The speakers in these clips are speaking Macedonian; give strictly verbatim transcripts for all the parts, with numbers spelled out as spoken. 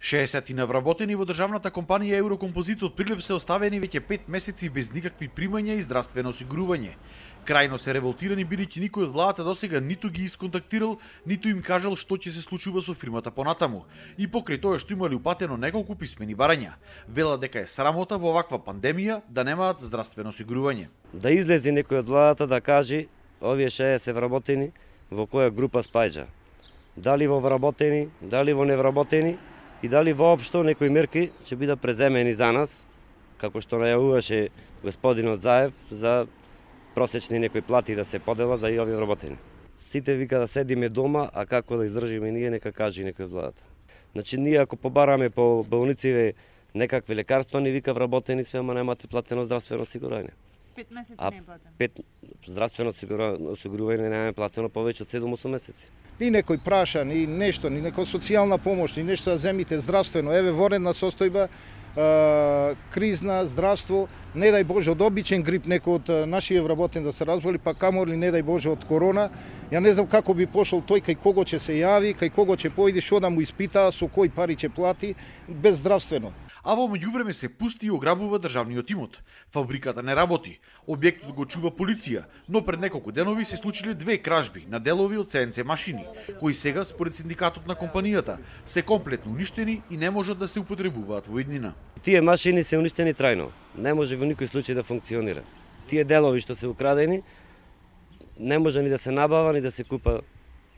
шеесет навработени во државната компанија Еврокомпозит од Прилеп се оставени веќе пет месеци без никакви примања и здравствено осигурување. Крајно се револтирани бидејќи никој од владата досега ниту ги исконтактирал, ниту им кажал што ќе се случува со фирмата понатаму. И покрај тоа што имали упатено неколку писмени барања, велат дека е срамота во ваква пандемија да немаат здравствено осигурување. Да излезе некој од владата да каже овие шеесет вработени во која група спаѓа. Дали во вработени, дали во невработени и дали воопшто некои мерки ќе бидат преземени за нас, како што најавуваше господинот Заев за просечни некои плати да се подела за и овие вработени. Сите вика да седиме дома, а како да издржиме ние, нека каже некој од владата. Значи ние ако побараме по болниците некакви лекарства, ни вика вработени све, ама немате платено здравствено осигурување. Пет месеци не е платено. Пет здравствено осигурување не е платено повеќе од седум-осум месеци. Ни некој праша, ни нешто, ни некоја социјална помош, ни нешто да земите здравствено. Еве воредна состојба, кризна, здравство, не дај Боже од обичен грип некој од нашите вработени да се разболи, па каморли не дај Боже од корона. Ја не знам како би пошол тој, кај кого ќе се јави, кај кого ќе поиде, што да му испита, со кој пари ќе плати, без здравствено. А во меѓувреме се пусти и ограбува државниот имот. Фабриката не работи, објектот го чува полиција, но пред неколку денови се случиле две кражби на делови од Се Ен Це машини, кои сега според синдикатот на компанијата се комплетно уништени и не можат да се употребуваат во иднина. Тие машини се уништени трајно, не може во никој случај да функционира. Тие делови што се украдени не може ни да се набава ни да се купа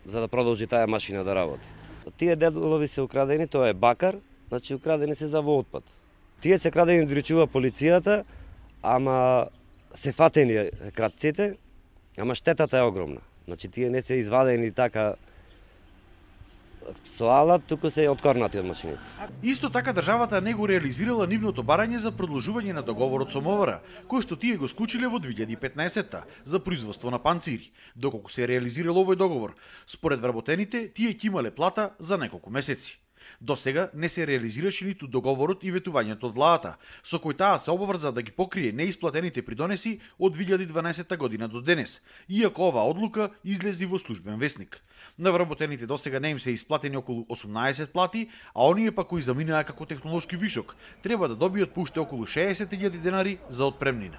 за да продолжи таа машина да работи. Тие делови се украдени, тоа е бакар, значи украдени се за во отпад. Тие се крадени доречува полицијата, ама се фатени крадците, ама штетата е огромна. Значи тие не се извадени така со алат, туку се откорнати од машините. Исто така државата не го реализирала нивното барање за продолжување на договорот со Мовара, кој што тие го склучиле во две илјади и петнаесетта за производство на панцири. Доколку се реализирал овој договор, според вработените, тие ќе имале плата за неколку месеци. До сега не се реализираше ниту договорот и ветувањето од владата, со кој таа се обврза да ги покрие неисплатените придонеси од две илјади и дванаесетта година до денес, иако оваа одлука излези во службен весник. На вработените до сега не им се исплатени околу осумнаесет плати, а оние па кои заминаа како технолошки вишок, треба да добијат по уште околу шеесет илјади денари за отпремнина.